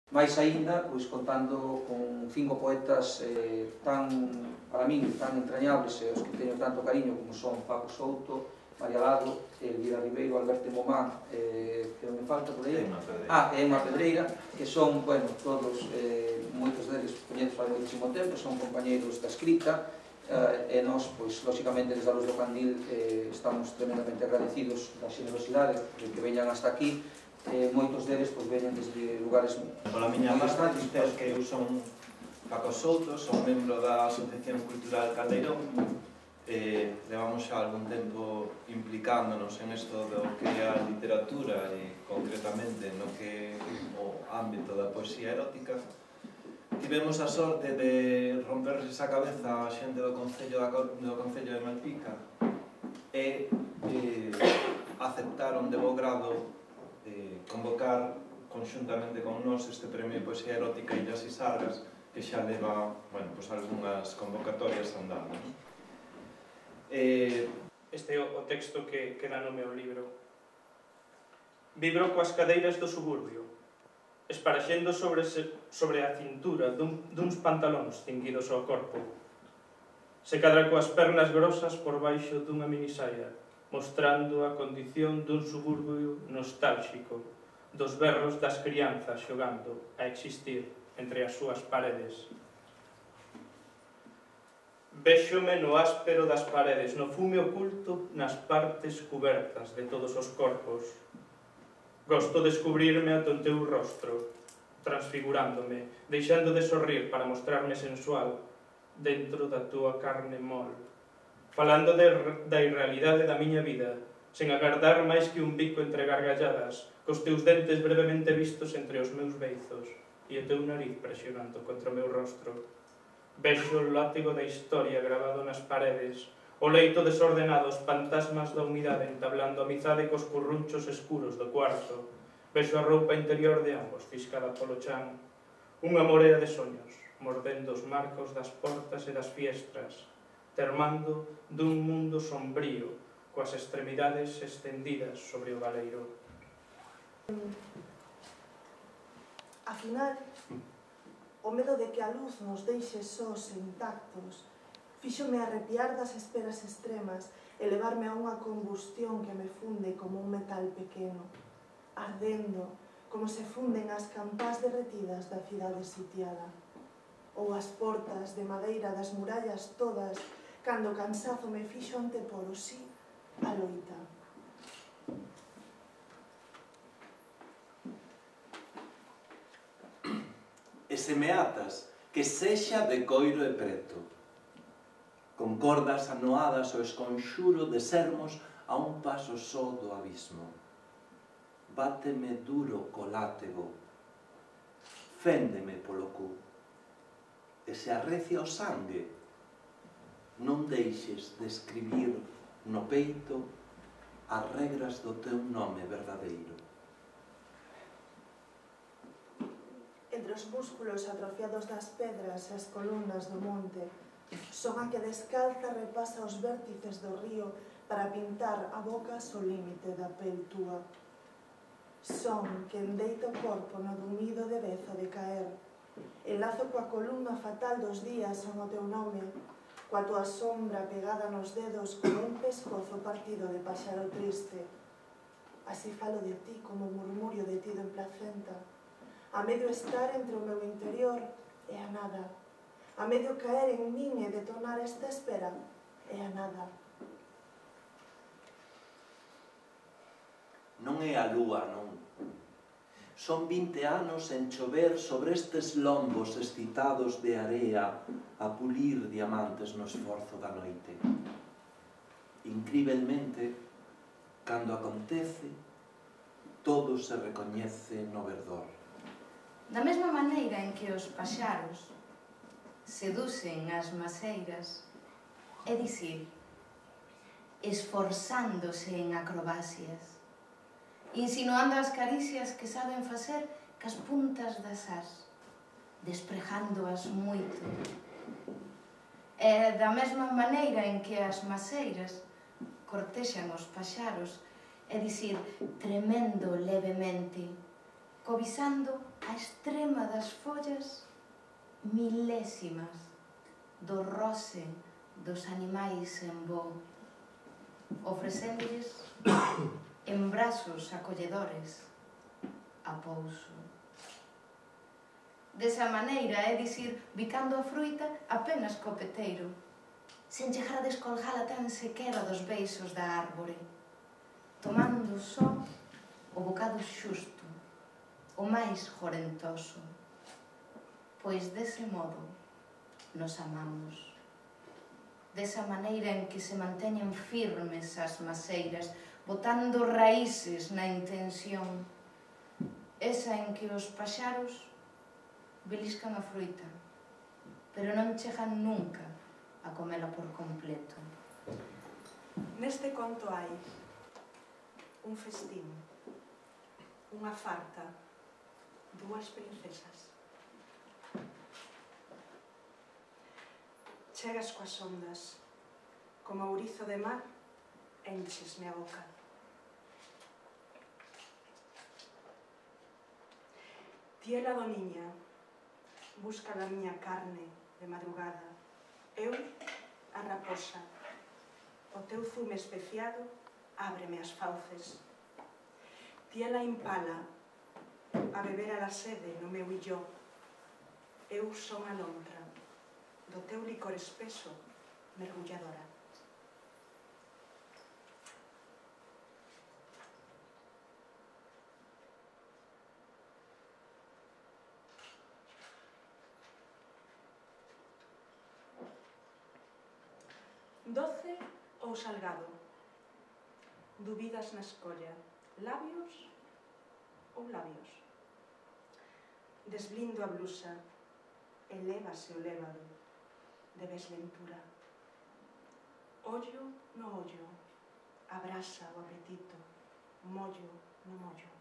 máis aínda, contando con 5 poetas para min, tan entrañables e os que teño tanto cariño como son Paco Souto, María Lado, Elvira Ribeiro, Alberto Momán, que non me falta por aí, e Emma Pedreira, que son, todos, moitos deles coñeces fai moitísimo tempo, son compañeiros da escrita, e nós, lóxicamente, desde a Luz do Candil estamos tremendamente agradecidos da xenerosidade de que veñan hasta aquí. Moitos deles veñen desde lugares moi distantes. Pola miña parte, dicer que eu son Paco Souto, son membro da Asociación Cultural Caldeirón. Levamos xa algún tempo implicándonos en isto do que é a literatura e concretamente no que é o ámbito da poesía erótica. Tivemos a sorte de romperse esa cabeza a xente do Concello de Malpica e aceptaron de bo grado convocar conxuntamente con nós este premio de poesía erótica Illas e Sargas, que xa leva algunhas convocatorias andando. Este é o texto que dá nome ao libro. Vibro coas cadeiras do suburbio, esparaxendo sobre a cintura duns pantalóns cinguidos ao corpo. Se cadra coas pernas grosas por baixo dunha minisaia, mostrando a condición dun suburbio nostálxico, dos berros das crianzas xogando a existir entre as súas paredes. Véxome no áspero das paredes, no fume oculto nas partes cubertas de todos os corpos. Gosto de descubrirme ante o teu rostro, transfigurándome, deixando de sorrir para mostrarme sensual dentro da túa carne mol, falando da irrealidade da miña vida, sen agardar máis que un bico entre gargalladas, cos teus dentes brevemente vistos entre os meus beizos e o teu nariz presionando contra o meu rostro. Vexo o látigo da historia gravado nas paredes, o leito desordenado, os fantasmas da humidade entablando amizade cos currunchos escuros do cuarto. Vexo a roupa interior de ambos fiscada polo chan, unha morea de soños, mordendo os marcos das portas e das fiestras, termando dun mundo sombrío, coas extremidades estendidas sobre o galeiro. Afinal, o medo de que a luz nos deixe sós e intactos fíxome arrepiar das esperas extremas e levarme a unha combustión que me funde como un metal pequeno, ardendo como se funden as campás derretidas da cidade sitiada, ou as portas de madeira das murallas todas, cando o cansazo me fixo antepor o sí a loita. E se me atas, que sexa de coiro e preto, con cordas anoadas o esconxuro de sermos a un paso só do abismo. Báteme duro co látego, féndeme polo cu, e se arrecia o sangue, non deixes de escribir no peito as regras do teu nome verdadeiro. Entre os músculos atrofiados das pedras e as columnas do monte, son a que descalza repasa os vértices do río para pintar a boca ao límite da pel túa. Son que endeita o corpo no dumido de bezo de caer. Enlazo coa columna fatal dos días son o teu nome, coa tua sombra pegada nos dedos como un pescozo partido de paxaro triste. Así falo de ti como murmurio detido en placenta, a medio estar entre o meu interior e a nada, a medio caer en min e detonar esta espera e a nada. Non é a lúa, non. Son 20 anos en chover sobre estes lombos excitados de area a pulir diamantes no esforzo da noite. Incrivelmente, cando acontece, todo se recoñece no verdor. Da mesma maneira en que os paxaros seducen as maceiras, é dicir, esforzándose en acrobacias, insinuando as caricias que saben facer cas puntas das ás, desprejándoas moito. E da mesma maneira en que as maceiras cortexan os paxaros, é dicir, tremendo levemente, covisando a extrema das follas milésimas do roce dos animais en voo, ofrecéndolles en brazos acolledores a pouso. Desa maneira, é dicir, bicando a fruita apenas co peteiro, sen chegar a descolgala tan sequera dos beixos da árbore, tomando só o bocado xusto, o máis jorentoso, pois dese modo nos amamos. Desa maneira en que se manteñen firmes as maceiras, botando raíces na intención, esa en que os paxaros beliscan a fruita, pero non chegan nunca a comela por completo. Neste conto hai un festín, unha farta, dúas princesas. Chegas coas ondas, como ourizo de mar, enchesme a boca. Tiela do niña, busca a miña carne de madrugada. Eu, a raposa, o teu zume especiado ábreme as fauces. Tiela impala, a beber a la sede no meu illó. Eu son a lontra, do teu licor espeso, mergulladora. Doce ou salgado? Dubidas na escolla, labios ou labios? Desblindo a blusa, elévase o lévado de desventura. Ollo no ollo, abrasa o apetito, mollo no mollo.